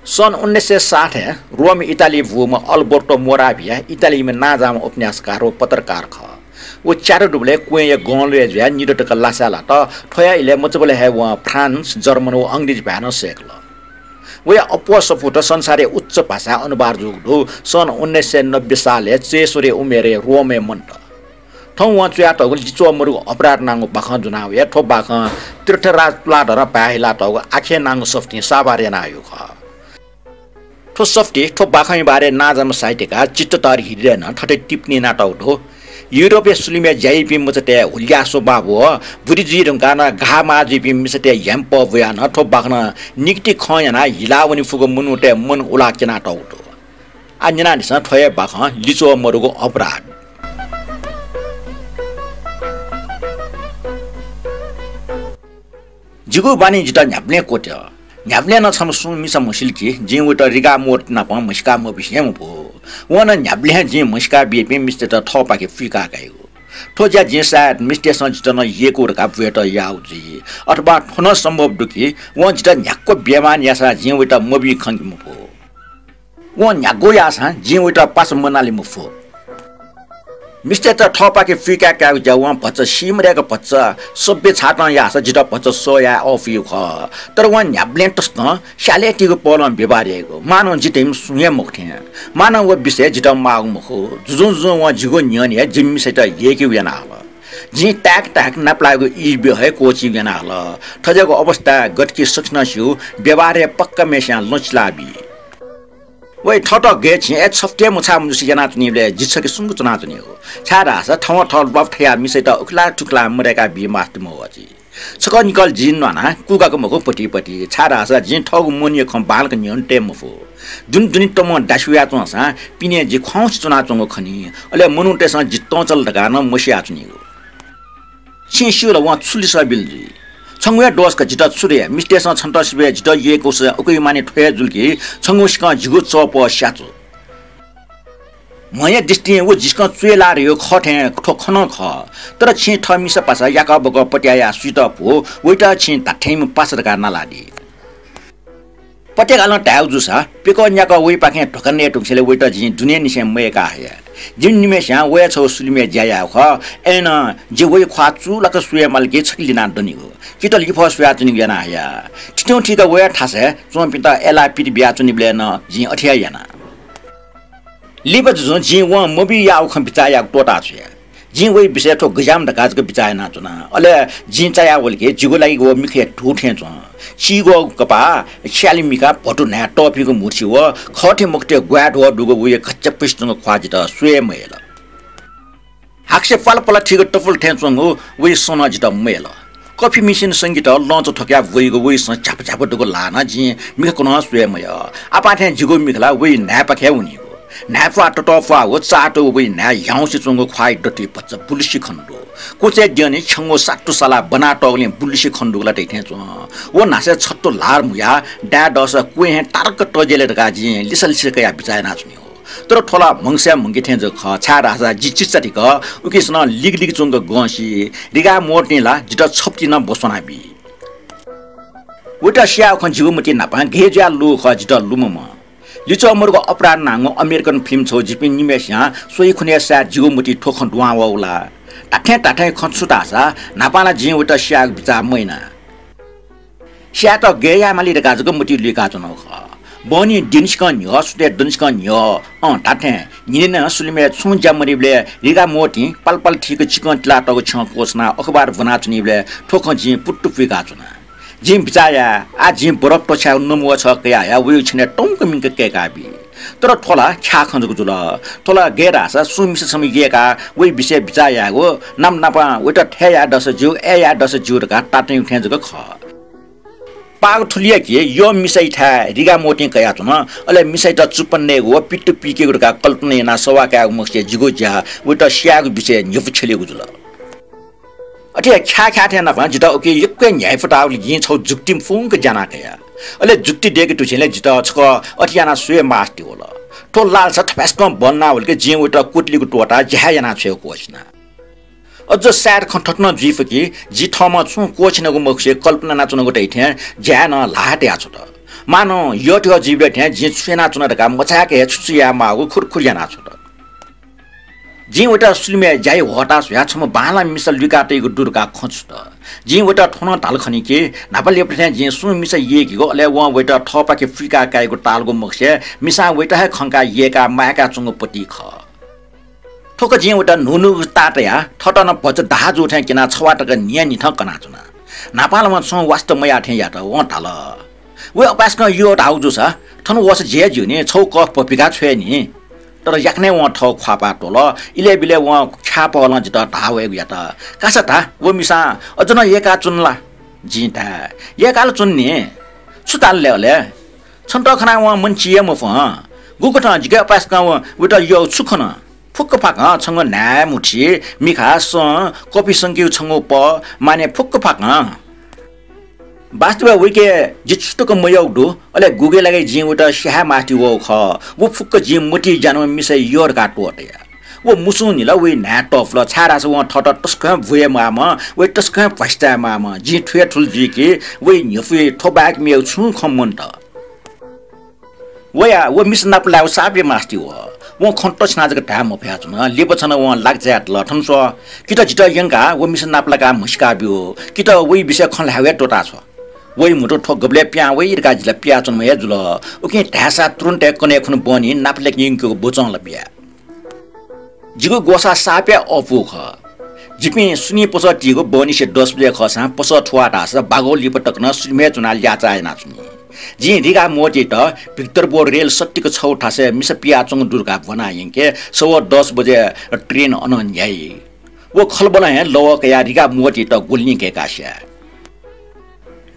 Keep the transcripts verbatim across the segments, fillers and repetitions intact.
सन् उन्नाइस सय साठय् रोम इटालीइ बूम्ह अल्बर्टो मोराभिया इटालीम्ह नांजाःम्ह उपन्यासकार व पत्रकार खः। व च्यादु दुबलय् क्वँय्‌या गंलय् जुयाः निदँ तक लासाय् लात। थ्वया इलय् मचाबलय् हे वं फ्रान्स, जर्मन व अंग्रेजी भाय् नं सय्‌कल। वया अप्वः सफूत संसारया उच्च भाषाय् अनुवाद जूगु दु। सन् उन्नाइस सय नब्बे सालय् चय्‌स्वरया उमेरय् रोमय् मन्त। थौं वं च्वयातःगु लिच्वः मदुगु अपराध नांगु बाखं ज्वनाः वया। थ्व बाखं तीर्थराज तुलाधरं भाय् हिलातःगु आखे नांगु सफुतिं साभार यानाहयागु खः। थ्व सफुतिइ थ्व बाखंया बारे नांजाःम्ह साहित्यकार चित्तधर हृदयं थथे टिप्पणी यानातःगु दु। युरोपया सुलिमय् ज्या याइपिं मचातय् हुलिया स्वभाव व बुद्धि जुइ धुंकाः नं घाःमाः जुइपिं मिसातय् ह्याइम्ह बुयाः नं थ्व बाखनं निकति खँ यानाः हिला वने फुगु मनूतय् मन उलाः क्यनातःगु दु। आः न्यनादिसँ थ्व हे बाखं लिच्वः मदुगु अपराध। जिगु बानी जितः न्ह्याबलें क्वत्यल। न्ह्याबलें नं छम्ह सुं मिसा म्हसिल कि जिं वयात रिगा मोर्ट नाप म्हसीका मबिसे हे मफु। वं नं न्ह्याबलें हे जिं म्हसीका बीपिं मिस्तय्त थःपाखे पुइका काइगु। थ्व ज्या जिं सायद मिस्तय्सं जितः नं यय्‌कू धकाः बुयात याःगु जुइ। अथवा थ्व नं सम्भव दु कि वं जितः न्ह्याक्व बेमान याःसां जिं वयात मबी खंके मफु। वं न्ह्याक्व याःसां जिं वयात पासा मनाले मफु। मिस्तय्त थःपाखे पुइका कायेगु ज्या वं भचा सीमदय्क भचा सभ्य छातं याःसा जितः भचा सह याये अःपुइगु खः। तर वं न्ह्याबलें तसकं स्यालेतिगु पहलं व्यवहार याइगु, मानं जि धइम्ह सुं हे मखु थें। मानं व विषय जितः माःगु मखु। जुजुं जुजुं वं जिगु न्ह्यःने हे जिमि मिसायात यय्‌केगु याना हल। जिं ताय्क ताय्क नापलाइगु ईब्यः हे क्वःछिइगु याना हल। थज्याःगु अवस्थाय् गथे कि सकसिनं स्यू, व्यवहार हे पक्का मेस्यां लँ चिलाबी। वइ, थःत गय् छिं, अय् छफुति हे मछाः मजुसे यानाच्वनीबलय् जि छखे सुम्क च्वनाच्वनीगु। छाय्धाःसा थवं थः ल्वापु थयाः मिसायात उखेलाः थुखेलाः मदय्का बी मास्ति मवःछि। छकः निकल जिं न्वानाः कुगाक मखु पतिपति, छाय्धाःसा जिं थःगु मनया खँ बांलाक न्ह्यःने तये मफु। दुने दुने तमं दासि वयाच्वंसां पिने जि ख्वाउँसे च्वनाच्वंगु खनी, अले मनूतय्सं जि तंचल धकाः नं मसियाच्वनीगु। छिं स्यू ला वं छु लिसः बिल जुइ? छंगु हे दोष का, जितः छु धया? मिस्तय्सं छन्त सिबय् जितः यय्‌कूसा उकिया माने थ्व हे जुल कि छंगु सिकं जिगु चःपः स्याच्वं। म्ह्या दृष्टिं व जिसकं च्वय् लाः धयागु खः थें थ्व खँ नं खः। तर छिं थः मिसा पासा याकः बकः पत्याः याः सुइत फु, वइत छिं धात्थेंम्ह पासा धकाः नालादी। पत्याकालं धायेगु जूसा, प्यकः न्याकः वइपाखें धोका नये धुंकूसां वइत जिं दुनेंनिसें मयय्का हया। जिमि निम्हय्स्यां वया छगू सुलिमय् ज्या याःगु खः। अय्नं जि वइ ख्वाः चूलाक स्वये माल कि छखे लिनाः दनिगु, चित लिफः स्वयाच्वनीगु याना हया। थितिं थीक वया थासय् च्वंपिन्त अय्लाः पित बियाच्वनीबलय् नं जिं अथे हे याना। लिपा जुजुं जिं वं मबी याःगु खँ बिचाः यायेगु त्वःताछ्वया। जिं वइ विषयय् थ्व गज्याःम्ह धकाः जक बिचाः यानाच्वना। अले जिं चायावल कि जिगु लागि व मिखाया धू थें च्वं। चीग्वःगु कपाः स्याले मिखां भतु न्हाय् तःपिंगु म्हुतुसि व खःथें मखुथें ग्वाये ध्वः दुगु वया घच्यापुसे च्वंगु ख्वाः जितः स्वये मयल। हाकसे पालापाला थीगु तपुल थें च्वंगु वइ सँ नं जितः मयल। कफी मिसिन संगीत लँच थ्वकाः ब्वइगु वइ सँ झ्याप झ्याप दुगु ल्हाः नं जिं मिखा कुन्हं स्वये मयः। आपाः थें जिगु मिखा ला वइ न्हाय्पाखे हे वनीगु। न्हाय्प्वाः ततःप्वाःगु चाःतूगु वइ न्हाय् ह्याउँसे च्वंगु ख्वाःया दथुइ भचा बुलुसे खने दु। कुचय् द्यःने छ्यंगू सात्तु सालाः ब्वनातःगुलिं बुलुसे खने दुगु ला धइथें च्वं। व न्हासय् छत्तु ल्हार म्हुयाः दाये दःसा क्वँय् हे तारक तज्याले धकाः जिं लिसा लिसा कयाः बिचाः यानाच्वनीगु। तर थ्व ला म्हगसय् म्हगके थें जक खः, छाय्धाःसा जि चिचाधिक उकिसनं लिगलिग च्वंक गंसि। रिगा मोर्टिं ला जितः छफुति नं ब्वस्वना बी। वइत स्याःगु खँ जिगु मतिइ न्हापां गय् जुयाः लूगु खः जितः लुमंम्ह। लिच्वः मदुगु अपराध नांगु अमेरिकन फिल्म छगू जिपिं निम्हय्सियां स्वइ खुन्हु हे सायद जिगु मतिइ थ्व खँ दुहां वःगु ला। धात्थें धात्थें खँ छु धाःसा न्हापां ला जिं वइत स्यायेगु बिचाः मयाना। स्यायेत गय् यायेमाली धकाः जक मतिइ लुइकाच्वनागु खः। बहनी दिनसिकं न्ह्यः, सुथय् दनिसिकं न्ह्यः, अँ, धात्थें न्हिनय् नं सुलिमय् छुं ज्या मदीबलय् रिगा मोर्टिं पालापाला थीक चिकं तिलातःगु छ्यं क्वछुनाः अखबार ब्वनाच्वनीबलय् थ्व खँ जिं पुत्तु पुइकाच्वना। जिं बिचाः याये, आः जिं बरफ त्वछायेगु नमुवा छगः कयाः हया वयागु छ्यनय् तंक मिंक कय्का बी। तर थ्व ला ख्याः खँ जक जुल। थ्व ला गय् धाःसा सुं मिसा छम्ह यय्काः वइ विषयय् बिचाः यायेगु, नाप नापं वइत थय् याये दःसा ज्यू, अय् याये दःसा ज्यू धकाः तातुनागु थें जक खः। पाग थुलिया कि यःम्ह मिसायाथाय् रिगा मोर्टिं कयाच्वन, अले मिसायात चुप्पा नयेगु व पित्तु पिकेगु धकाः कल्पना यानाः सवाः कायेगु मखुसे जिगु ज्या वइत स्यायेगु विषयय् न्ह्यपु छ्यलेगु जुल। अथे ख्याः ख्याः थें नापं जितः उकी यक्व हे न्ह्याइपुताःगुलिं जिं छगू जुक्ति फुंक ज्याना कया। अले जुक्ति दय्के धुसेंलि जितः छकः अथे यानाः स्वये मास्ति वल। थ्व लालसा थपाय्सकं बल्लावल कि जिं वइत क्वतुलिगु त्वःताः ज्या हे यानाछ्वयेगु क्वःछिना। अझ सायद खँ थथे नं जुइ फु कि जि थःम्हं छुं क्वःछिनागु मखुसे कल्पना यानाच्वनागु धइथें ज्याय् नं ल्हाः तयाछ्वत। मानं यःथें जुइबलय् थें जिं छु यानाच्वना धकाः मचाय्क हे छु छु यायेमाःगु खुरखुर यानाछ्वत। जिं वयात सुलिमय् ज्याइ ह्वःताः स्वया छम्ह बांलाः मिसा लुइकातइगु दु धकाः खँ छुत। जिं वयात थ्व नं धाल खनी कि न्हापा लिपा थें जिं सुं मिसा यय्केगु, अले वं वयात थःपाखे फुइका काइगु ताःलागु मखुसे मिसां वयात हे खंकाः यय्काः माय्काच्वंगु पति खः। थुक जिं वयात न्हून्हूगु ताः तयाः थःत नं भचा दाहा जू थें क्यनाः छवाः तक न्हियान्हिथं कनाच्वना। न्हापां ला वं छुं वास्ता मयाः थें यात। वं धाल, "वय् अपाय्सकं यः धाःगु जूसा थन वःसा ज्या ज्यू नि, छगू कफ भ्वपिकाः छ्वये नि।" तर याकनं वं थःगु ख्वाःपाः त्वल। इलय् बिलय् वं ख्यापहलं जितः धाः वयेगु यात। "कासा धा, व मिसां अझ नं यय्काच्वन ला?" जिं धाये, "यय्काः ला च्वन नि।" "छु धाल ले अले?" "छन्त खनाः वं मन चिये मफु हं। गुकथं जिके अपाय्सकं व, वयात यःगु छु खन? फुक्क फाकं छंगु न्हाय्, मुठी, मिखा, सँ, कफि संकेगु छंगु पः, माने फुक्क फाकं।" वास्तवय् वइके जि छुतुक मयःगु दु, अले गुगु लागिं जिं वयात स्याये मास्ति वःगु खः। व फुक्क जिं मतिइ ज्या नं मिसाया यः धकाः त्वःताया। व मुसुंनिल वइ न्हाय् तःफुल, छाय्धाःसा वं थःत तसकं भ्वयेमाःम्ह, वइ तसकं भ्वासितायेमाःम्ह। जिं थुया थुल जुइके वइ न्ह्यफुइ थ्व बाहेक मेगु छुं खँ मन्त। वया व मिसा नाप लायेगु साप हे मास्ति वः। वं खँ तछिना जक धाये मफयाच्वन। लिपा छन वं लागिचाय् तल, "थन स्व, कि त जितः यंकाः व मिसा नाप लाकाः म्हसीका ब्यु, कि त वइ विषयय् खँ ल्हाये हे त्वःता छ्व। वइ म्हुतु थ्व गबलय् पिहां वइ धकाः जि ला पिहां च्वनेम्ह हे जुल। उकिं धायेसा तुरुन्त हे कन्हय् खुन्हु बहनी नाप लाके यंकेगु ब्वचं ला बिया।" जिगु ग्वसाः साप हे अःपु खः। जिपिं सुनिं पसः तीगु बहनिसे दस बजे खःसां पसः थुवाः धाःसा बागः लिपा तक नं सुलिमय् च्वनाः ल्याःचाः यानाच्वनी। जिं रिगा मोतीयात भिक्टर बोर रेल सत्तिक छगू थासय् मिसा पियाच्वंगु दु धकाः ब्वना यंके सवः दस बजे ट्रेन अनं न्ह्याइ। व खलबलं हे लवः कयाः रिगा मोतीयात गुलिं कय्काः स्याये।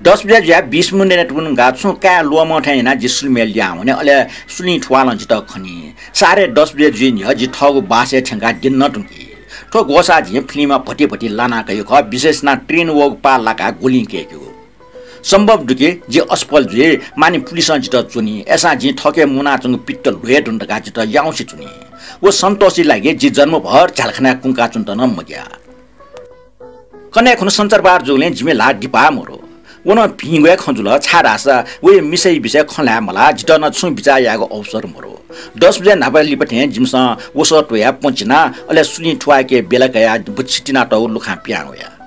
दस बजे जुयाः बीस मिनेट वंकाः छुं काये ल्वःमं थें यानाः जि सुलिमय् लिहां वने, अले सुलिं थुवालं जितः खनी। साढे दस बजे जुइ न्ह्यः जि थःगु बासय् थ्यंकाः द्यने नं धुंकी। थ्व ग्वसाः जिं फिल्मय् भति भति लाना कयागु खः, विशेष यानाः ट्रेन वःगु पाः लाकाः गुलिं कय्केगु। सम्भव दु कि जि असफल जुइ, मानि पुलिसं जितः च्वनी, अय्सां जिं थःके मुनाच्वंगु पित्त ल्ह्वये धुन धकाः जितः याउँसे च्वनी। व सन्तोषया लागि जि जन्मभर झ्यालखानाय् कुंकाच्वनेत नं मग्याः। कन्हय् खुन्हु सञ्चारबार जूगुलिं जिमि ल्हाः दिपाः मरु। व नं भिंगु हे खँ जुल, छाय्धाःसा वया मिसाया विषयय् खँ ल्हाये मलाः, जितः नं छुं बिचाः यायेगु अवसर मरु। दस बजे न्हापा लिपा थें जिमिसं वसः त्वयाः पँ चिना, अले सुलिं थुवाय्के बेला कयाः बच्छि तिनातःगु लुखां पिहां वया।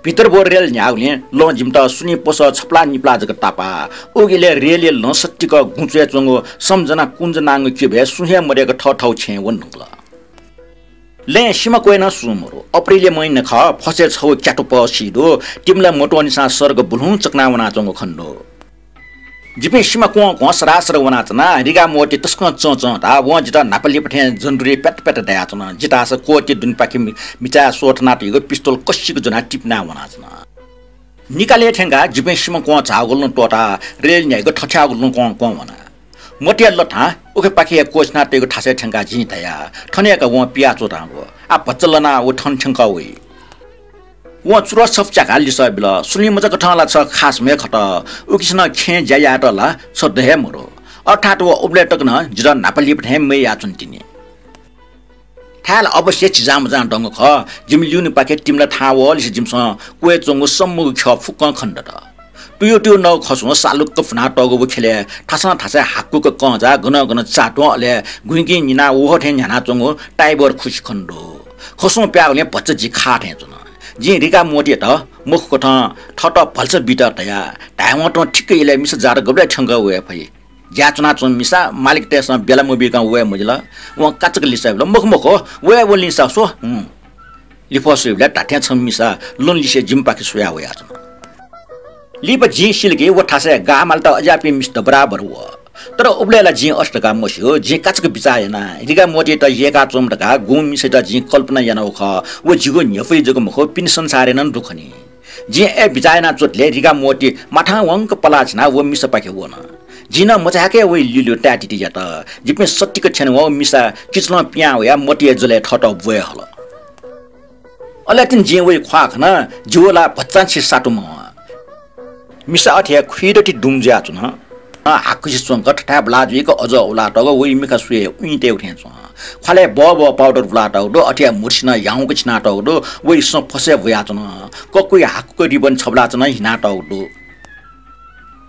भितरबो रेल न्ह्याःगुलिं लं जिमित सुलिं पसः छपला निपला जक तापाः। उकिले रेलया लं सत्तिक गुँचय् च्वंगु सम्झना कुञ्ज नांगु क्यबय् सुं हे मदय्क थःथःगु छेँय् वने धुंकल। लँय् सिमा क्वय् नं सुं मरु। अप्रिलया महिना खः, फसय् छगू क्यातुपः सी दु। तिमिला मत्वःनिसां सर्ग बुलुहुँ चकना वनाच्वंगु खने दु। जिपिं सिमा क्वं क्वं सरासर वनाच्वना। रिगा मोती तसकं चंचं धाः। वं जितः न्हापा लिपा थें जन्जुरी प्यात प्यात दयाच्वन। जि धाःसा क्वःति दुनेपाखे मि-, मिचाय् स्वथनातःगु पिस्तोल कसिक ज्वनाः तिपिना वनाच्वन। निकालय् थ्यंकाः जिपिं सिमा क्वं झाःगु लँ त्वःताः रेल न्ह्याइगु थथ्याःगु लँ क्वं क्वं वना। मोतीया लथां उखेपाखे हे क्वःछिनातःगु थासय् थ्यंकाः जिं धया, "थन हे का वं पियाच्वंगु। आः भचा लनाः व थन थ्यंकः वइ।" वं चुरस छपु च्याकाः लिसः बिल, "सुलिं मचाकथं ला छ खासम्ह हे खत। उकिसं नं खँय् ज्या यायेत ला छ द हे मरु।" अर्थात् व उबलय् तक नं जितः न्हापा लिपा थें मययाच्वन तिनि। थाय् ला अवश्य झिजामजां दंगु खः। जिमि ल्यूनेपाखे तिमिला थाहां वःलिसे जिमिसं क्वय् च्वंगु सम्मगु ख्यः फुक्कं खने दत। तुयु तुयु नगु खसुं सालुक्क फुनातःगु व ख्यलय् थासं थासय् हाकुक कंजा, गनं गनं चात्वं, अले गुँइगुँइ निनाः वहः थें न्ह्यानाच्वंगु टाइबर खुसि खने दु। खसुं प्याःगुलिं भचा जि खाः थें च्वन। जिं रिगा मोतीयात मखुकथं थःत भलसा बीत धया, "धायेवं तुं ठिक्क इलय् मिसा जात गबलय् थ्यंकः वये फइ?" ज्याय् च्वनाच्वंम्ह मिसा मालिकतय्सं बेला मबीकं वये मजिल। वं काचाक्क लिसः बिल, "मखु मखु, वये वंलिंसा स्व।" हुँ। लिफः स्वइबलय् धात्थें छम्ह मिसा लँलिसे जिमिपाखे स्वयाः वयाच्वन। लिपा जिं सिल कि व थासय् गाः मालेत अज्याःपिं मिस्त बराबर वः। तर उबलय् ला जिं अथे धकाः मस्यू, जिं काचाक्क बिचाः याना। रिगा मोतीयात यय्काच्वंम्ह धकाः गुम्ह मिसायात जिं कल्पना यानागु खः, व जिगु न्ह्यफुइ जक मखु, पिने संसारय् नं दु खनी। जिं अय् बिचाः याना च्वंतले रिगा मोती माथां वंक पलाः छिनाः व मिसापाखे वन। जिं नं मचाय्क हे वइ ल्यूल्यू ताय्‌तिति यात। जिपिं सत्तिक थ्यने वंगु मिसा किचलं पिहां वयाः मोतीया जलय् थःत ब्वये हल। अले तिनि जिं वइ ख्वाः खना, जिगु ला भचांछि सातु मवं। मिसा अथे हे खुइदति दुम जुयाच्वन। हाकुसे च्वंक थथाय् ब्वला जुइक अजः उलातःगु वइ मिखा स्वये उइँतय्‌गु थें च्वं। ख्वालय् बबः पाउडर ब्वलातःगु दु, अथे हे मुर्सिनं याउँक छिनातःगु दु, वइ सँ फसय् ब्वयाच्वन। ककुइ हाकुक रिबन छब्वलाच्वन हिनातःगु दु।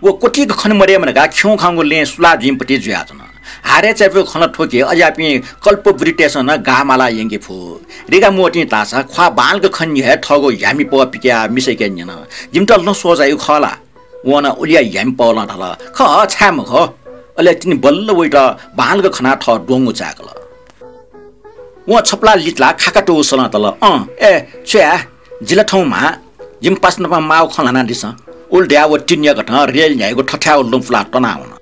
व क्वतिक खने मदयेमा धकाः खिउँखाउँगु लँय् सुलाः जुइम्ह पति जुयाच्वन। हारय् चायापुगु खँ ला थ्व कि अज्याःपिं कल्पवृत्तय्‌सं नं गाः मालाः यंके फु। रिगा मोतिं धाःसा ख्वाः बांलाक खने न्ह्यः हे थःगु ह्यामिपः पिकयाः मिसायाके न्यन, "जिमित लँ स्वःजाइगु खः ला?" वं नं उलिया ह्यामिपलं धाल, "खः, छाय् मखु?" अले तिनि बल्ल वइत बांलाक खनाः थः द्वंगु चाय्‌कल। वं छपलाः लितलाः खाका त्वःगु सलं धाल, "अँ, ए, छु याये? जि ला थौं म्हां, जिमि पासानापं माःगु खँ ल्हानादिसँ।" उलि धयाः व तिनिया कथं रेल न्ह्याइगु थथ्याःगु लँ पुलाः तनावन।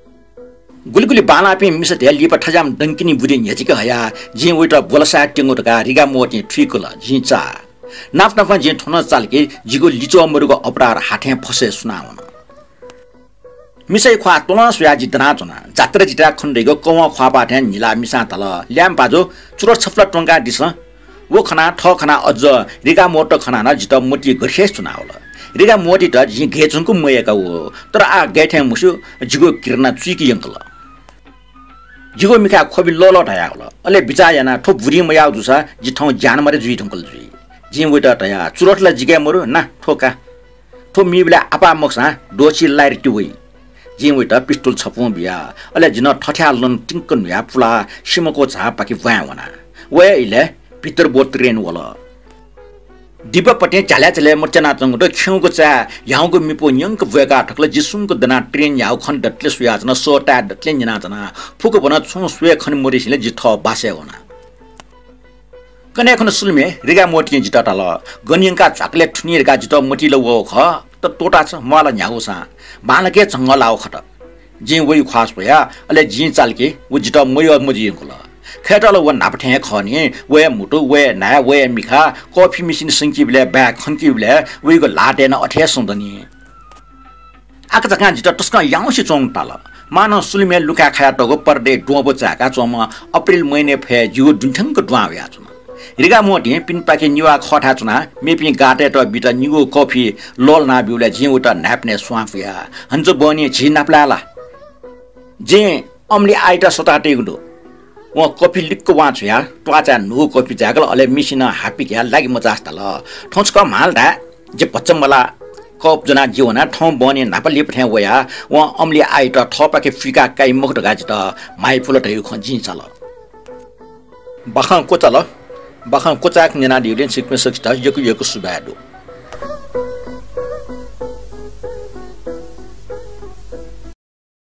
गुलि गुलि बांलाःपिं मिसातय् लिपा थज्याःम्ह दंकिनि बुद्धि न्ह्यचिके हयाः जिं वइत ब्वलसाय् त्यंगु धकाः रिगा मोतिं थुइकल, जिं चाः। नाप नापं जिं थन चाल कि जिगु लिच्वः मदुगु अपराध हाथें फसय् सुनावन। मिसाया ख्वाः त्वलं स्वयाः जि दनाच्वना। जात्रा जिताय् खने दइगु कवं ख्वाःपाः थें न्हिलाः मिसां धाल, "ल्याय्म्ह पाजु, चुरोट छपलाः त्वंकादिसँ।" व खनाः थः खनाः अझ रिगा मोतित खनाः नं जितः मतिइ गथे हे च्वनावल। रिगा मोतित जिं गय् च्वंक मयय्‌कागु, तर आः गय् थें मस्यू, जिगु घृणा चुइके यंकल। जिगु मिखाय् ख्वबि लःलः धयावल। अले बिचाः यानाः थ्व बुद्धिं मयाः जूसा जि थौं ज्यानमारे जुइ धुंकल जुइ। जिं वइत धया, "चुरोट ला जिके मरु, ना थ्व का। थ्व मीबलय् आपाः मखुसां द्वःछि लाय्‌रे ति वइ।" जिं वइत पिस्तोल छपुं बिया। अले जिं थथ्याः लँ तिंक न्हुयाः पुलाः सिमको झापाखे ब्वाँय् वना। वया इलय् भितरब्व ट्रेन वल। दिबापतिं झ्यालय् झ्यालय् मच्यानाच्वंगु दु। खिउँगु चाय् ह्याउँगु मिपु न्यंक ब्वय्‌का थकल। जि सुम्क दनाः ट्रेन न्ह्याःगु खँ दतले सुयाच्वना, सः ताये दतले न्यनाच्वना। फुक्क ब्वनाः छुं स्वये खने मदिसेंलि जि थः बासय् वना। कन्हय् खुन्हु सुलुमय् रिगा मोतिं जितः धाल, "गन यंकाः झ्वाकलय् थुनी धकाः जितः मतिइ ला वःगु खः, तर त्वःताछ्व, म्वाः ला न्ह्यागुसां।" बांलाक हे झंगः लाःगु खत। जिं वया ख्वाः स्वया, अले जिं चाल कि व जितः मयः मजुइयंकल। खय्‌त ला व न्हापा थें हे खः नि। वया म्हुतु, वया न्हाय्, वया मिखा, कफि मेसिन संकीबलय्, बाय् खंकीबलय् वइगु ल्हातय् नं अथे हे सुं दनि। आकाझाकां जितः तसकं याउँसे च्वंगु ताल। मानं सुलुमय् लुखाय् खायातःगु परदाया द्वंब्व चाय्‌का च्वंम्ह अप्रिल महिनाय् फय् जिगु दुने थ्यंक दुहां वयाच्वन। रिगा मोतिं पिनेपाखे निभाः खःथाय् च्वनाः मेपिं गाःतय्‌त बीत निगू कफि लःल्हाना ब्यूबलय् जिं वइत न्हाय्‌पनय् स्वां पुया। "हन्जु बहनी, झी नापलाये ला?" जिं अमली आइत सःता तइगु दु। वं कफि लिक्क वां छ्वयाः त्वाःचाय् न्हूगु कफि जाय्‌कल, अले मेसिनं हापिकयाः लागि मचासे धाल, "थौं छकः म्हाल धाये।" जि भचा मलाः कप ज्वनाः जि वनाः थौं बहनी न्हापा लिपा थें वयाः वं अमली आइत थःपाखे पुइकाः काइ मखु धकाः जितः म्हाइपुल धइगु खँ जिं चाल। बाखं क्वचाल। बाखं क्वचाय्‌क न्यनादीबलय् छिकपिं सकसित यक्व यक्व सुभाय् दु।